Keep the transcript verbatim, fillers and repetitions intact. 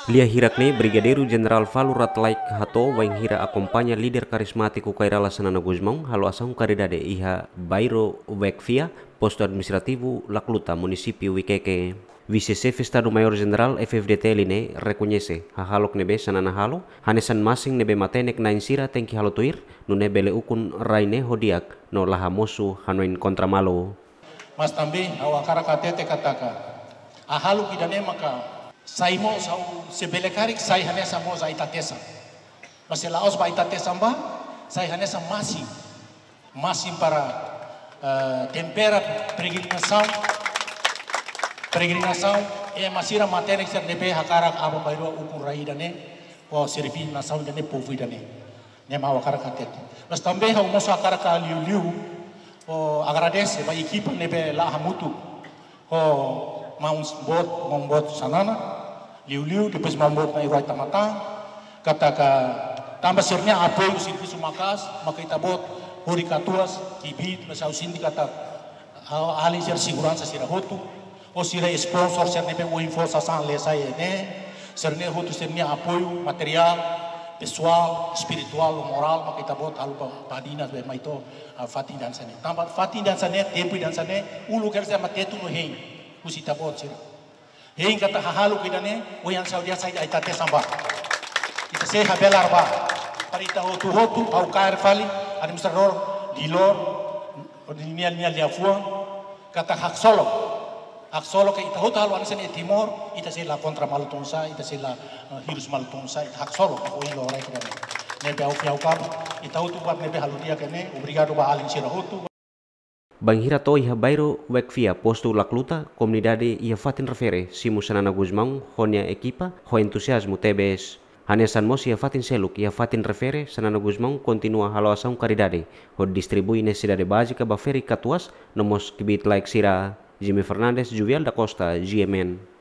Lia hirak ne'e, Brigadeiru Jenerál Falur Ratlaik hato'o wainhira akompaña líder karizmátiku Kay Rala Xanana Gusmão halo asaun karidade iha Bairro Wekfia, Postu Administrativu Lacluta, Munisípiu Viqueque. Vise-Xefe Estadu-Maiór Jenerál F-FDTL ne'e rekoñese hahalok ne'ebé Xanana halo, hanesan masin ne'ebé matenek-na'in sira tenke halo tuir, nune'e bele ukun rai ne'e ho di'ak no la hamosu hanoin kontra malu. Mas também ha'u hakarak hatete katak hahalok ida-ne'e maka sai mós, ha'u se bele karik sai hanesan mós ai-tatesan. Mas se la'ós ba ai-tatesan ba, sai hanesan masin. Masin para, eh, tempera peregrinasaun. Peregrinasaun, ema sira matenek sira ne'ebé hakarak aban-bainrua ukun rai ida-ne'e, ou serví nasaun ida-ne'e, povu ida-ne'e. Ne'e mak ha'u hakarak hatete. Mas também ha'u mós hakarak liuliu, ou agradese ba ekipa ne'ebé la hamutuk ho maun boot, maun boot Xanana, liuliu, depois maun boot Nai Ruai Tamatan, katak tanba sira-nia apoiu servisu maka'as, maka ita-boot hodi katuas kbiit, mas ha'u sente katak ha'u alin sira seguransa sira hotu, ou sira sponsor sira ne'ebé ohin fó sasán lee-sa'e ne'e, sira-ne'e hotu sira-nia apoiu materiál, pesoál, espirituál, morál, maka ita-boot halo ba, ba Dinas be mai to'o, ah, fatin dansa ne'e. Tanba fatin dansa ne'e, tempu dansa ne'e, uluk hela sira mak Tetun no hein, husi ita-boot sira. Hein katak hahalok ida-ne'e, oinsá ha'u dehan sai ai-tatesan ba. Ita sei habelar ba. Para ita hotu-hotu, ha'u kaer fali, administradór, di lor, nia, nia liafuan, katak haksolok. Haksolok ke ita hotu halo hanesan iha Timor, ita sei la kontra malu tun sá, ita sei la, eh, hirus malu tun sá, ita haksolok, ohin loron rai ida-ne'e. Ne'ebé ha'u fiar katak, ita hotu buat ne'ebé halo di'ak ne'e, obrigadu ba alin sira hotu. Bainhira to'o iha Bairro Wekfia, Postu Lacluta, komunidade iha fatin refere simu Xanana Gusmão ho nia ekipa ho entuziazmu tebes. Hanesan mós iha fatin seluk, iha fatin refere, Xanana Gusmão kontinua halo asaun karidade, hodi distribui nesesidade bázika ba ferik katuas, no mós kbiit-laek sira. Jimmy Fernandes, Juvial da Costa, G M N.